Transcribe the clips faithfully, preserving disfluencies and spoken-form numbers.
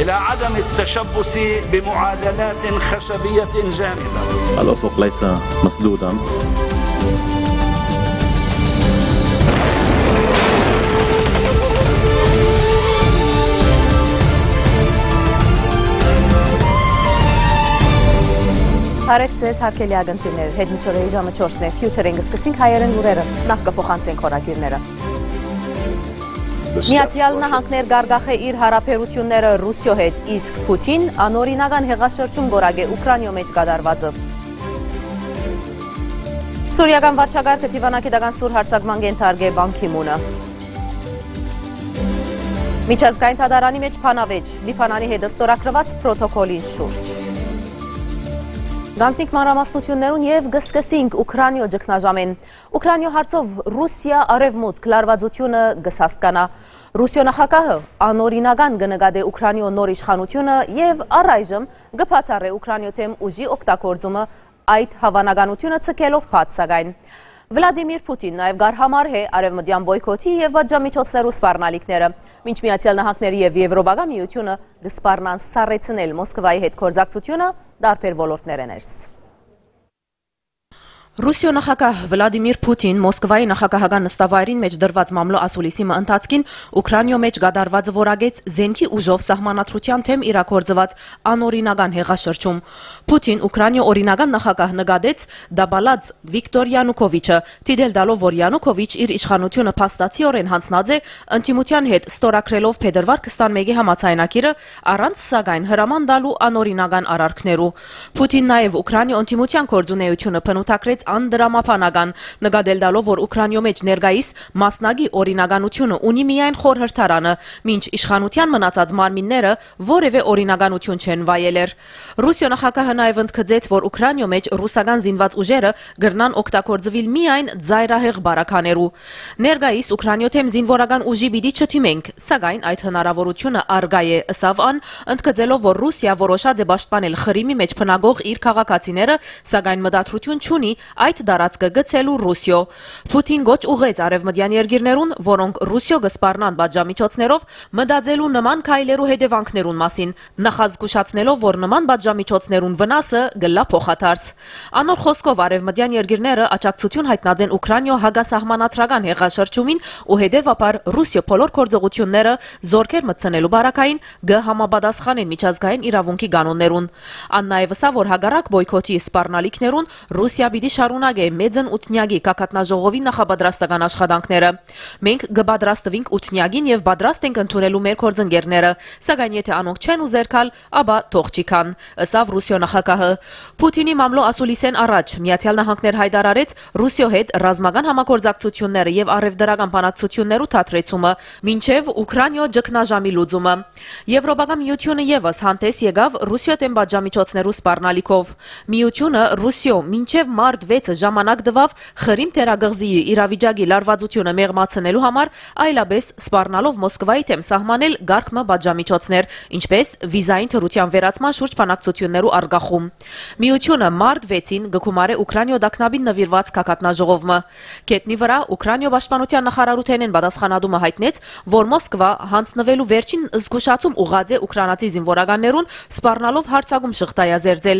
إلى عدم التشبث بمعادلات خشبية جامدة. الأفق ليس مسدودا. Բարեւ ձեզ, հարգելի ակնթիւներ։ Յետ մինչ օրը ժամը չորսն է, Future-ին կը սկսենք հայերէն լուրերը։ Նախ կը փոխանցենք խորագիրները։ Միացյալ Նահանգներ կ'արգախէ իր յարաբերութիւնները Ռուսիոյ հետ, իսկ Փութին անօրինական հեղաշրջում կ'որակէ Ուքրանիոյ մէջ կատարուածը։ Սուրիական վարչակարգը դիւանագիտական սուր յարձակման կ'ենթարկէ Պան Գի Մունը։ Միջազգային դատարանի մէջ բանավէճ, Լիբանանի հետ ստորագրուած պրոտոկոլին շուրջ։ Գանձնիկ մանրամասնութիւններուն եւ կը սկսենք Ուքրանիոյ ճգնաժամէն։ Ուքրանիոյ հարցով Ռուսիա արեւմուտք լարուածութիւնը կը սաստկանայ։ Ռուսիոյ նախագահը անօրինական կը նկատէ Ուքրանիոյ նոր իշխանութիւնը եւ առայժմ կը բացառէ Ուքրանիոյ դէմ ուժի օգտագործումը, այդ հաւանականութիւնը ձգելով բաց, սակայն Վլադիմիր Փութին նաեւ կ'արհամարհէ արեւմտեան պոյքոթի եւ պատժամիջոցներու սպառնալիքները, մինչ Միացյալ Նահանգները եւ Եւրոպական Միութիւնը կը սպառնան սառեցնել Մոսկվայի հետ գործակցութիւնը տարբեր ոլորտներէ ներս։ Ռուսիոյ նախագահ Վլադիմիր Փութին Մոսկվայի նախագահական նստավայրին մէջ տրուած մամլոյ ասուլիսի մը ընթացքին Ուքրանիոյ մէջ կատարուածը որակեց զէնքի ուժով սահմանադրութեան դէմ իրագործուած անօրինական հեղաշրջում։ Փութին Ուքրանիոյ օրինական նախագահ նկատեց Դաբալած Վիկտոր Յանուկովիչը, դիտել տալով, որ Յանուկովիչ իր իշխանութիւնը փաստացիօրէն յանձնած է, ընդդիմութեան հետ ստորագրելով փետրուար քսանմէկի համաձայնագիրը, առանց, սակայն, հրաման տալու անօրինական արարքներու։ Փութին նաեւ Ուքրանիոյ ընդդիմութեան գործունէութիւնը բնութագրեց անտրամաբանական, նկատել տալով, որ Ուքրանիոյ մէջ ներկայիս մասնակի օրինականութիւնը ունի միայն խորհրդարանը, մինչ իշխանութեան մնացած մարմինները որեւէ օրինականութիւն չեն վայելեր։ Ռուսիոյ նախագահը նաեւ ընդգծեց, որ Ուքրանիոյ մէջ ռուսական զինուած ուժերը կրնան օգտագործուիլ միայն ծայրահեղ բարականերու։ «Ներկայիս Ուքրանիոյ դէմ զինուորական ուժի պիտի չդիմենք, սակայն այդ հնարաւորութիւնը առկայ է», ըսաւ ան, ընդգծելով, որ Ռուսիա որոշած է պաշտպանել Խրիմի մէջ բնակող իր քաղաքացիները, սակայն մտադրութիւն չունի այդ տարածքը գցելու Ռուսիոյ։ Փութին կոչ ուղղեց արեւմտեան երկիրներուն, որոնք Ռուսիոյ կը սպառնան պատժամիջոցներով, մտածելու նման քայլերու հետեւանքներուն մասին, նախազգուշացնելով, որ նման պատժամիջոցներուն վնասը կ'ըլլայ փոխադարձ։ Անոր խօսքով, արեւմտեան երկիրները աջակցութիւն յայտնած են Ուքրանիոյ հակասահմանադրական հեղաշրջումին ու հետեւաբար Ռուսիոյ բոլոր գործողութիւնները զորքեր մտցնելու պարագային կը համապատասխանեն միջազգային իրաւունքի կանոններուն։ Ան նաեւ ըսաւ, որ հակառակ պոյքոթի սպառնալիքներուն, Ռուսիա պիտի շարունակէ Մեծն Ութնեակի գագաթնաժողովի նախապատրաստական աշխատանքները։ «Մենք կը պատրաստուինք Ութնեակին եւ պատրաստ ենք ընդունելու մեր գործընկերները, սակայն եթե անոնք չեն ուզեր գալ, ապա թող չի գան», ըսաւ Ռուսիոյ նախագահը։ Փութինի մամլոյ ասուլիսէն առաջ Միացեալ Նահանգներ յայտարարեց Ռուսիոյ հետ ռազմական համագործակցութիւնները եւ առեւտրական բանակցութիւններու դադրեցումը մինչեւ Ուքրանիոյ ճգնաժամի լուծումը։ Եվրոպական միութիւնը եւս հանդէս եկաւ Ռուսիոյ դէմ պատժամիջոցներու սպառնալիքով։ Միութիւնը Ռուսիոյ մինչեւ մարտ վեցը ժամանակ տուաւ Խրիմ թերակղզիի իրավիճակի լարուածութիւնը մեղմացնելու համար, այլապէս սպառնալով Մոսկվայի դէմ սահմանել կարգ մը պատժամիջոցներ, ինչպէս վիզային դրութեան վերացման շուրջ բանակցութիւններու առկախում։ Միութիւնը մարտ վեցին կը գումարէ Ուքրանիոյ տագնապին նուիրուած գագաթնաժողով մը։ Գետնի վրայ Ուքրանիոյ պաշտպանութեան նախարարութենէն պատասխանատումը յայտնեց, որ Մոսկվա յանձնուելու վերջին զգուշացում ուղղած է ուքրանացի զինուորականներուն, սպառնալով յարձակում շղթայազերծել։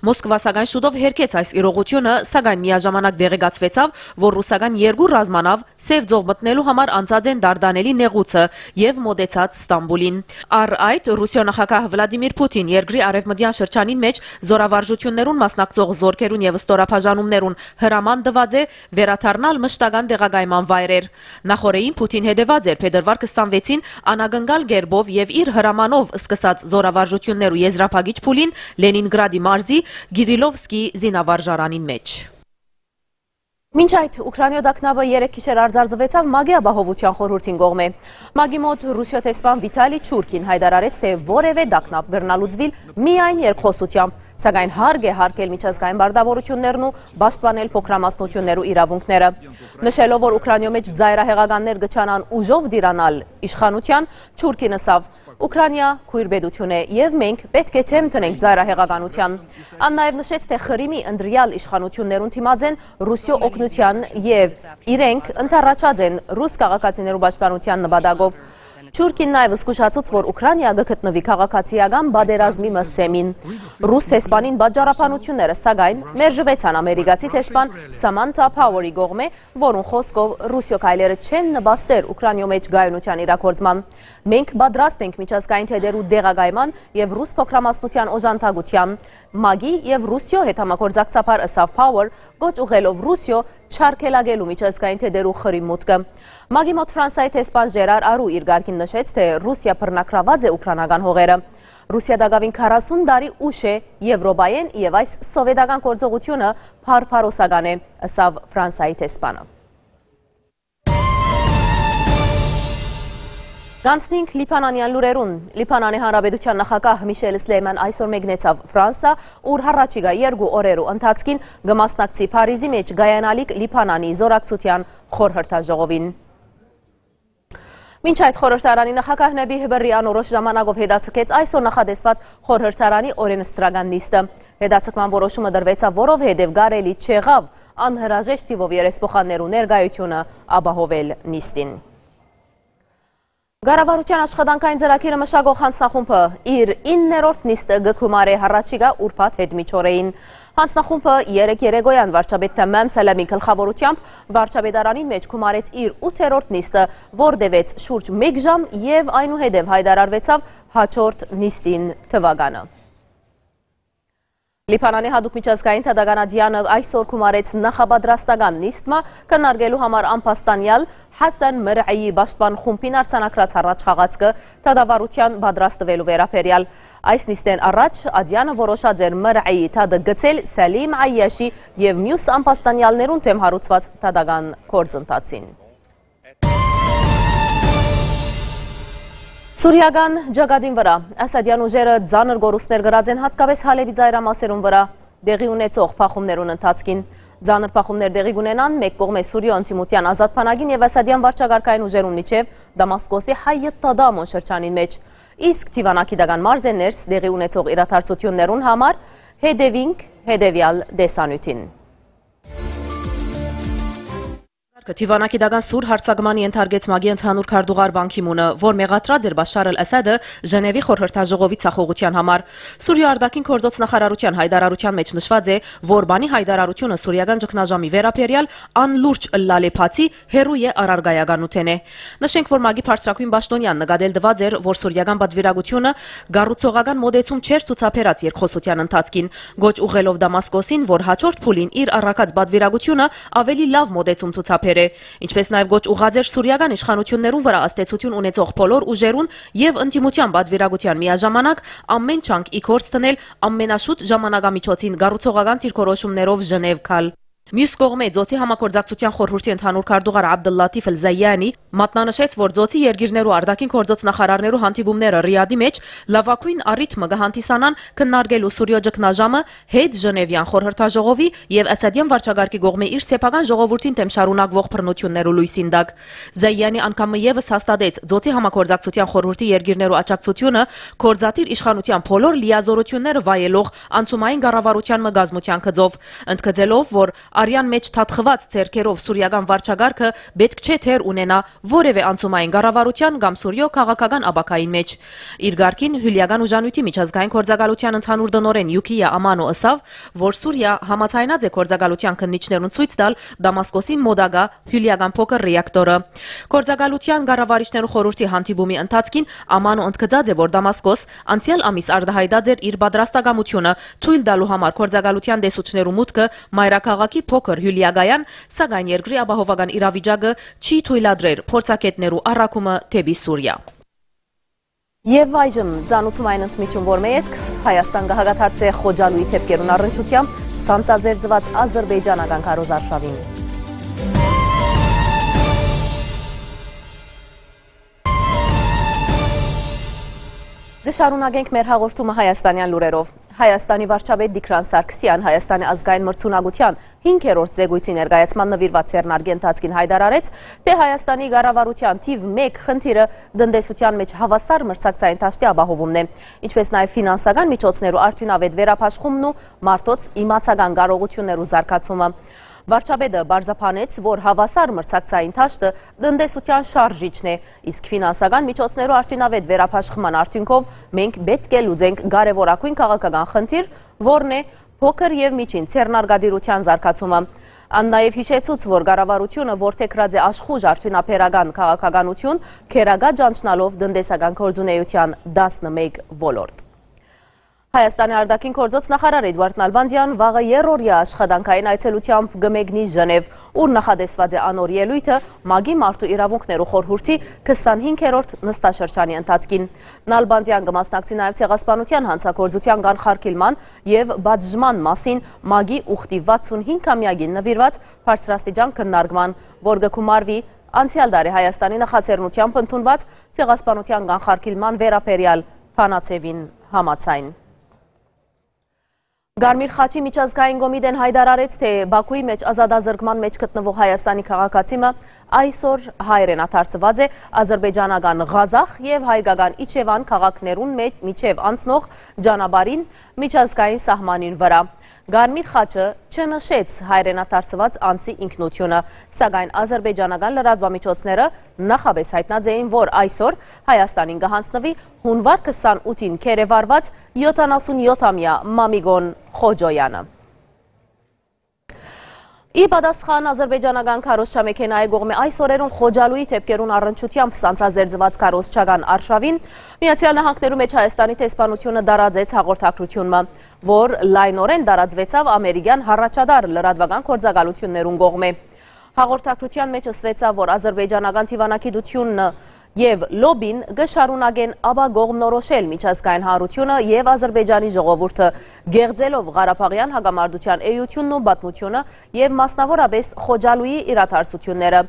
Մոսկվա, սակայն, շուտով հերքեց այս իրողութիւնը, սակայն միաժամանակ տեղեկացուեցաւ, որ ռուսական երկու ռազմանաւ Սեւ ծով մտնելու համար անցած են Դարդանելի նեղուցը եւ մօտեցած Ստամբուլին։ Առ այդ, Ռուսիոյ նախագահ Վլադիմիր Փութին երկրի արեւմտեան շրջանին մէջ զօրավարժութիւններուն մասնակցող զորքերուն եւ ստորաբաժանումներուն հրաման տուած է վերադառնալ մշտական տեղակայման վայրեր։ Նախօրեին Փութին հետեւած էր փետրուար քսանվեցին անակնկալ կերպով եւ իր հրամանով սկսած զօրավարժութիւններու եզրափակիչ փուլին Լենինգրադի մարզի Կիրիլովսկի զինավարժարանին մէջ։ Մինչ այդ, Ուքրանիոյ տագնապը երեկ գիշեր արձանագրուեցաւ ՄԱԿ-ի Ապահովութեան խորհուրդին կողմէ։ ՄԱԿ-ի մօտ Ռուսիոյ դեսպան Վիտալի Չուրքին յայտարարեց, թէ որեւէ տագնապ կրնայ լուծուիլ միայն երկխօսութեամբ, սակայն հարկ է յարգել միջազգային պարտաւորութիւններն ու պաշտպանել փոքրամասնութիւններու իրաւունքները, նշելով, որ Ուքրանիոյ մէջ ծայրահեղականներ կը ջանան ուժով տիրանալ իշխանութեան։ Չուրքին ըսաւ. «Ուքրանիա քոյր պետութիւն է եւ մենք պէտք է դէմ դնենք ծայրահեղականութեան»։ Ան նաեւ նշեց, թէ Խրիմի ընտրեալ իշխանութիւններուն դիմած են Ռուսիոյ օգնութեան եւ իրենք ընդառաջած են ռուս քաղաքացիներու պաշտպանութեան նպատակով։ Թուրքին նաեւ զգուշացուց, որ Ուքրաինա կը գտնուի քաղաքացիական պատերազմի մը սեմին։ Ռուս դեսպանին պատճառաբանութիւնները, սակայն, մերժուեցան ամերիկացի դեսպան Սամանթա Փաուերի կողմէ, որուն խօսքով Ռուսիոյ քայլերը չեն նպաստեր Ուքրաինայու մէջ կայունութեան իրագործման։ «Մենք պատրաստ ենք միջազգային թեթերու տեղակայման եւ ռուս փոքրամասնութեան օժանդակութեան, մագի եւ Ռուսիոյ հետ համագործակցաբար», ըսաւ Փաուեր, կոչ ուղղելով Ռուսիոյ չարգելակելու միջազգային թեթերու խրի մուտքը։ Մագի մօտ Ֆրանսայի դեսպան Ժերար Արու իր կարգին նշեց, թէ Ռուսիա բռնագրաւած է ուքրաինական հողերը։ Ռուսիա տակաւին քառասուն տարի ուշ է Եւրոպայէն եւ այս սովետական գործողութիւնը բարբարոսական է, ըսաւ Ֆրանսայի դեսպանը։ Գանցնինք Լիբանանեան լուրերուն։ Լիբանանի Հանրապետութեան նախագահ Միշել Սլեյման այսօր մեկնեցաւ Ֆրանսա, ուր հառաչիկայ երկու օրերու ընթացքին կը մասնակցի Փարիզի մէջ կայանալիք Լիբանանի զօրակցութեան խորհրդաժողովին։ Մինչ այդ, խորհրդարանի նախագահ Նեբիհ Բըրրի անորոշ ժամանակով հետաձգեց այսօր նախատեսուած խորհրդարանի օրենսդրական նիստը։ Հետաձգման որոշումը տրուեցաւ, որովհետեւ կարելի չեղաւ անհրաժեշտ թիւով երեսփոխաններու ներկայութիւնը ապահովել նիստին։ Կառավարութեան աշխատանքային ծրագիրը մշակող յանձնախումբը իր իններորդ նիստը կը գումարէ հառաչիկայ ուրբաթ յետմիջօրեին։ Յանձնախումբը երեկ երեկոյան վարչապետ Թեմեմ Սելեմի գլխաւորութեամբ վարչապետարանին մէջ գումարեց իր ութերորդ նիստը, որ տեւեց շուրջ մէկ ժամ եւ այնուհետեւ յայտարարուեցաւ յաջորդ նիստին թուականը։ Լիբանանի յատուկ միջազգային դատական ատեանը այսօր գումարեց նախապատրաստական նիստ մը, քննարկելու համար ամբաստանեալ Հասան Մրայի պաշտպան խումբին արձանագրած առաջխաղացքը դատավարութեան պատրաստուելու վերաբերեալ։ Այս նիստէն առաջ ատեանը որոշած էր Մրայի դատը գցել Սալիմ Այյաշի եւ միւս ամբաստանեալներուն դէմ հարուցուած դատական գործընթացին։ Սուրիական ճակատին վրայ Ասադեան ուժերը ծանր կորուստներ կրած են, յատկապէս Հալէպի ծայրամասերուն վրայ տեղի ունեցող բախումներուն ընթացքին։ Ծանր բախումներ տեղի կունենան մէկ կողմէ Սուրիոյ ընդդիմութեան ազատ բանակին եւ Ասադեան վարչակարգային ուժերուն միջեւ Դամասկոսի Հայետ Թադամոն շրջանին մէջ։ Իսկ դիվանագիտական մարզէն ներս տեղի ունեցող իրադարձութիւններուն համար հետեւինք հետեւեալ տեսանիւթին։ Դիվանագիտական սուր յարձակմանի ենթարկեց ՄԱԿ-ի ընդհանուր քարտուղար Պան Գի Մունը, որ մեղադրած էր Բաշար Ալ Ասադը Ժենեւի խորհրդաժողովի ձախողութեան համար։ Սուրիոյ արտաքին գործոց նախարարութեան յայտարարութեան մէջ նշուած է, որ Պանի յայտարարութիւնը սուրիական ճգնաժամի վերաբերեալ անլուրջ ըլլալէ բացի հեռու է առարկայականութենէ։ Նշենք, որ ՄԱԿ-ի բարձրագոյն պաշտօնեան նկատել տուած էր, որ սուրիական պատվիրակութիւնը կառուցողական մօտեցում չէր ցուցաբերած երկխօսութեան ընթացքին, կոչ ուղղելով Դամասկոսին, որ յաջորդ փուլին իր առաքած պատվիրակութիւնը ավելի լաւ մօտեցում ցուցաբերէ, ինչպէս նաեւ կոչ ուղղած էր սուրիական իշխանութիւններուն վրայ ազդեցութիւն ունեցող բոլոր ուժերուն եւ ընդդիմութեան պատվիրակութեան միաժամանակ ամէն ջանք ի գործ դնել, ամենաշուտ ժամանակամիջոցին կառուցողական դիրքորոշումներով Ժենեւ գալ։ Միւս կողմէ, Ծոցի համագործակցութեան խորհուրդի ընդհանուր քարտուղար Աբդըլլաթիֆ Ալ Զայյանի մատնանշեց, որ Ծոցի երկիրներու արտաքին գործոց նախարարներու հանդիպումները Ռիադի մէջ լաւագոյն առիթ մը կը հանդիսանան քննարկելու Սուրիոյ ճգնաժամը հետ Ժենեւեան խորհրդաժողովի եւ Ասադեան վարչակարգի կողմէ իր սեփական ժողովուրդին դէմ շարունակուող բռնութիւններու լոյսին տակ։ Զայյանի անգամ մը եւս հաստատեց Ծոցի համագործակցութեան խորհուրդի երկիրներու աջակցութիւնը գործադիր իշխանութեան բոլոր լիազօրութիւնները վայելող անցումային կառավարութեան մը կազմութեան գծով, ընդգծելով, որ արեան մէջ թաթխուած ձեռքերով սուրիական վարչակարգը պէտք չէ դեր ունենայ որեւէ անցումային կառավարութեան կամ Սուրիոյ քաղաքական ապագային մէջ։ Իր կարգին, Հիւլեական ուժանիւթի միջազգային գործակալութեան ընդհանուր տնօրէն Յուքիա Ամանո ըսաւ, որ Սուրիա համաձայնած է գործակալութեան քննիչներուն ցոյց տալ Դամասկոսին մօտակայ Հիւլեական փոքր ռեակտորը։ Գործակալութեան կառավարիչներու խորհուրդի հանդիպումի ընթացքին Ամանո ընդգծած է, որ Դամասկոս անցեալ ամիս արտայայտած էր իր պատրաստակամութիւնը թոյլ տալու համար գործակալութեան տեսուչներու մուտքը մայրաքաղաքի փոքր Հիւլեակայան, սակայն երկրի ապահովական իրավիճակը չի թոյլատրեր փորձագէտներու առաքումը դէպի Սուրիա։ Եւ այժմ ծանուցում այն ընդմիջում, որ մը ետք Հայաստան կը հակադարձէ Խոջալուի դեպքերուն առնչութեամբ սանձազերծուած ազրպէյճանական քարոզարշաւին։ Կը շարունակենք մեր հաղորդումը հայաստանեան լուրերով։ Հայաստանի վարչապետ Տիգրան Սարգսեան Հայաստանի ազգային մրցունակութեան հինգերորդ զեկույցի ներկայացման նուիրված ձեռնարկի ընթացքին յայտարարեց, թէ Հայաստանի կառավարութեան թիւ մէկ խնդիրը տնտեսութեան մէջ հաւասար մրցակցային դաշտի ապահովումն է, ինչպէս նաեւ ֆինանսական միջոցներու արդիւնաւէտ վերաբաշխումն ու մարդոց իմացական կարողութիւններու զարգացումը։ Վարչապետը պարզաբանեց, որ հաւասար մրցակցային դաշտը տնտեսութեան շարժիչն է, իսկ ֆինանսական միջոցներու արդիւնաւէտ վերաբաշխման արդիւնքով մենք պէտք է լուծենք կարեւորագոյն քաղաքական խնդիր, որն է փոքր եւ միջին ձեռնարկատիրութեան զարգացումը։ Ան նաեւ յիշեցուց, որ կառավարութիւնը որդեգրած է աշխուժ արդիւնաբերական քաղաքականութիւն, գերակա ճանչնալով տնտեսական գործունէութեան տասնմէկ ոլորտ։ Հայաստանի արտաքին գործոց նախարար Էդուարդ Նալբանդեան վաղը երրորդյա աշխատանքային այցելութեամբ կը մեկնի Ժնեւ, ուր նախատեսուած է անոր ելոյթը ՄԱԿ-ի մարդու իրաւունքներու խորհուրդի քսանհինգերորդ նստաշրջանի ընթացքին։ Նալբանդեան կը մասնակցի նաեւ Ցեղասպանութեան յանցագործութեան կանխարգիլման եւ պատժման մասին ՄԱԿ-ի ուխտի վաթսունհինգամեակին նուիրուած բարձրաստիճան քննարկման, որ կը գումարուի անցեալ տարի Հայաստանի նախաձեռնութեամբ ընդունուած Ցեղասպանութեան կանխարգիլման վերաբերեալ բանաձեւին համաձայն։ Կարմիր խաչի միջազգային կոմիտեն յայտարարեց, թէ Բաքուի մէջ ազատազրկման մէջ գտնուող Հայաստանի քաղաքացի մը այսօր հայրենադարձուած է ազրպէյճանական Ղազախ եւ հայկական Իջեւան քաղաքներուն մէջ, միջեւ անցնող ճանապարհին միջազգային սահմանին վրայ։ Կարմիր խաչը չնշեց հայրենադարձուած անձի ինքնութիւնը, սակայն ազրպէյճանական լրատուամիջոցները նախապէս յայտնած էին, որ այսօր Հայաստանին կը յանձնուի յունուար քսանութին գերեվարուած յոթանասունյոթամեայ Մամիկոն Խոջոյանը։ Ի պատասխան ազրպէյճանական քարոզչամեքենայի կողմէ այս օրերուն Խոջալուի դէպքերուն առնչութեամբ սանձազերծուած քարոզչական արշաւին, Միացեալ Նահանգներու մէջ Հայաստանի դեսպանութիւնը տարածեց հաղորդագրութիւն մը, որ լայնօրէն տարածուեցաւ ամերիկեան յառաջատար լրատուական գործակալութիւններուն կողմէ։ Հաղորդագրութեան մէջ ըսուեցաւ, որ ազրպէյճանական դիւանագիտութիւնը եւ լոբին կը շարունակեն ապակողմնորոշել միջազգային հանրութիւնը եւ Ազրպէյճանի ժողովուրդը, կեղծելով Ղարաբաղեան հակամարտութեան էութիւնն ու պատմութիւնը եւ մասնաւորապէս Խոջալուի իրադարձութիւնները։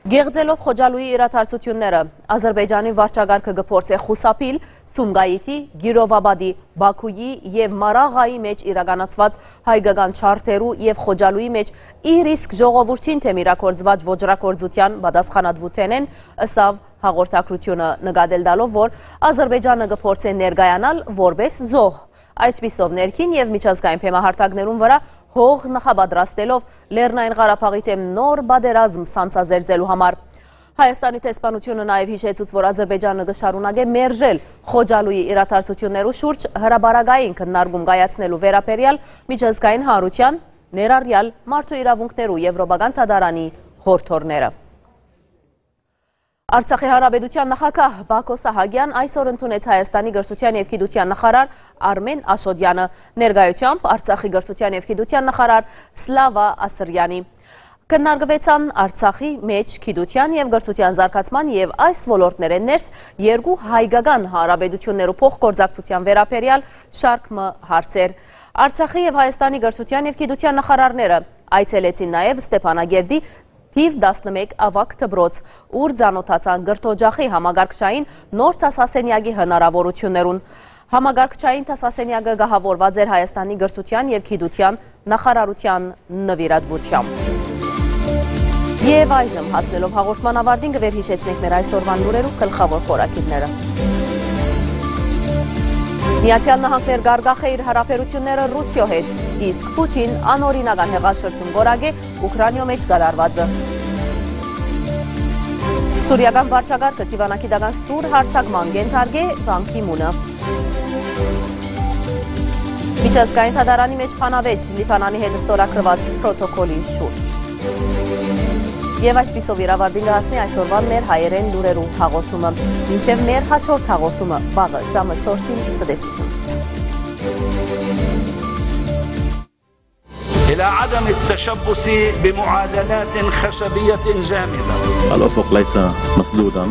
Կեղծելով Խոջալուի իրադարձութիւնները, Ազրպէյճանի վարչակարգը կը փորձէ խուսափիլ Սումգայիթի, Կիրովաբադի, Բաքուի եւ Մարաղայի մէջ իրականացուած հայկական չարթերու եւ Խոջալուի մէջ իր իսկ ժողովուրդին դէմ իրագործուած ոճրագործութեան պատասխանատուութենէն, ըսաւ հաղորդագրութիւնը, նկատել տալով, որ Ազրպէյճանը կը փորձէ ներկայանալ որպէս զոհ, այդպիսով ներքին եւ միջազգային բեմահարթակներուն վրայ հող նախապատրաստելով Լեռնային Ղարաբաղի դէմ նոր պատերազմ սանձազերծելու համար։ Հայաստանի դեսպանութիւնը նաեւ յիշեցուց, որ Ազրպէյճանը կը շարունակէ մերժել Խոջալուի իրադարձութիւններու շուրջ հրապարակային քննարկում կայացնելու վերաբերեալ միջազգային հանրութեան, ներառեալ Մարդու իրաւունքներու Եվրոպական դատարանի յորդորները։ Արցախի Հանրապետութեան նախագահ Բակո Սահակեան այսօր ընդունեց Հայաստանի կրթութեան եւ գիտութեան նախարար Արմեն Աշոտեանը, ներկայությամբ Արցախի կրթութեան եւ գիտութեան նախարար Սլավա Ասրյանի։ Քննարկուեցան Արցախի մէջ գիտութեան եւ կրթութեան զարգացման եւ այս ոլորտներէն ներս երկու հայկական հանրապետութիւններու փոխգործակցութեան վերաբերեալ շարք մը հարցեր։ Արցախի եւ Հայաստանի կրթութեան եւ գիտութեան նախարարները այցելեցին նաեւ Ստեփանագերդի թիվ տասնմէկ աւագ դպրոց, ուր ծանօթացան կրթօջախի համակարգչային նոր դասասենեակի հնարաւորութիւններուն։ Համակարգչային դասասենեակը կահաւորուած էր Հայաստանի կրթութեան եւ գիտութեան նախարարութեան նուիրատուությամբ։ Եւ այժմ, հասնելով հաղորդման ավարտին, կը վերհիշեցնենք մեր այսօրվան լուրերու գլխաւոր խորագիրները։ Միացեալ Նահանգներ կ'արգախէ իր յարաբերութիւնները Ռուսիոյ հետ, իսկ Պութին անօրինական հեղաշրջում կ'որակէ Ուքրանիոյ մէջ կատարուածը։ Սուրիական վարչակարգը դիվանագիտական սուր յարձակման կ'ենթարկէ Պան Գի Մունը։ Միջազգային դատարանի մէջ բանավէճ Լիբանանի հետ ստորագրուած պրոտոկոլի շուրջ։ Եվ այսպիսով իր աւարտին կը հասնի այսօրվան մեր հայերէն լուրերու հաղորդումը։ Մինչեւ մեր հաջորդ հաղորդումը վաղը ժամը չորսին, ցտեսութիւն։ إلى عدم التشبث بمعادلات خشبية جامدة. الأفق ليس مسدودا.